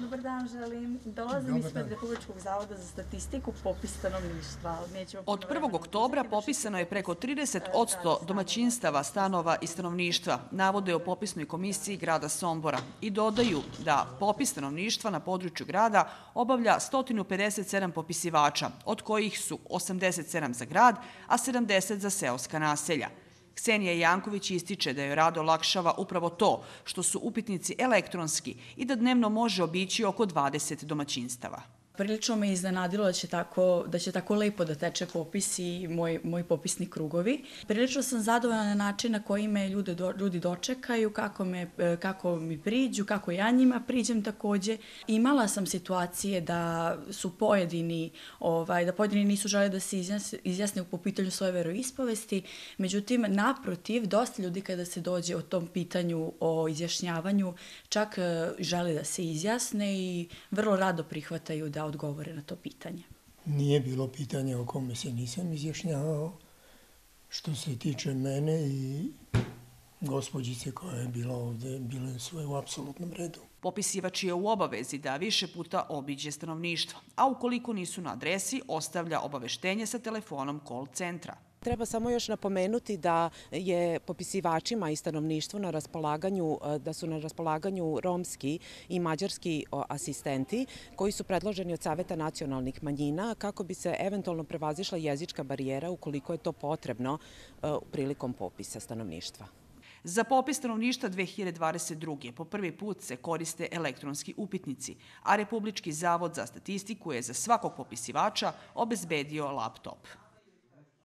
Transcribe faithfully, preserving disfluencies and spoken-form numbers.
Dobar dan, želim. Dolazim ispred Republičkog zavoda za statistiku, popis stanovništva. Od prvog oktobra popisano je preko trideset posto domaćinstava, stanova i stanovništva, navode o popisnoj komisiji grada Sombora i dodaju da popis stanovništva na području grada obavlja sto pedeset sedam popisivača, od kojih su osamdeset sedam za grad, a sedamdeset za seoska naselja. Ksenija Janković ističe da joj rad olakšava upravo to što su upitnici elektronski i da dnevno može obići oko dvadeset domaćinstava. Prilično me iznenadilo da će tako, da će tako lepo da teče popis i moj, moj popisni krugovi. Prilično sam zadovoljna na način na koji me ljude, ljudi dočekaju, kako, me, kako mi priđu, kako ja njima priđem takođe. Imala sam situacije da su pojedini, ovaj, da pojedini nisu žele da se izjasne, izjasne po pitanju svoje veroispovesti, međutim, naprotiv, dosta ljudi kada se dođe o tom pitanju o izjašnjavanju, čak žele da se izjasne i vrlo rado prihvataju da odgovore na to pitanje. Nije bilo pitanja o kome se nisam izjašnjavao. Što se tiče mene i gospođice koja je bila ovde, bile sve u apsolutnom redu. Popisivač je u obavezi da više puta obiđe stanovništvo, a ukoliko nisu na adresi, ostavlja obaveštenje sa telefonom call centra. Treba samo još napomenuti da je popisivačima i stanovništvu na raspolaganju, da su na raspolaganju romski i mađarski asistenti koji su predloženi od Saveta nacionalnih manjina kako bi se eventualno prevazišla jezička barijera ukoliko je to potrebno prilikom popisa stanovništva. Za popis stanovništva dve hiljade dvadeset druge. po prvi put se koriste elektronski upitnici, a Republički zavod za statistiku je za svakog popisivača obezbedio laptop.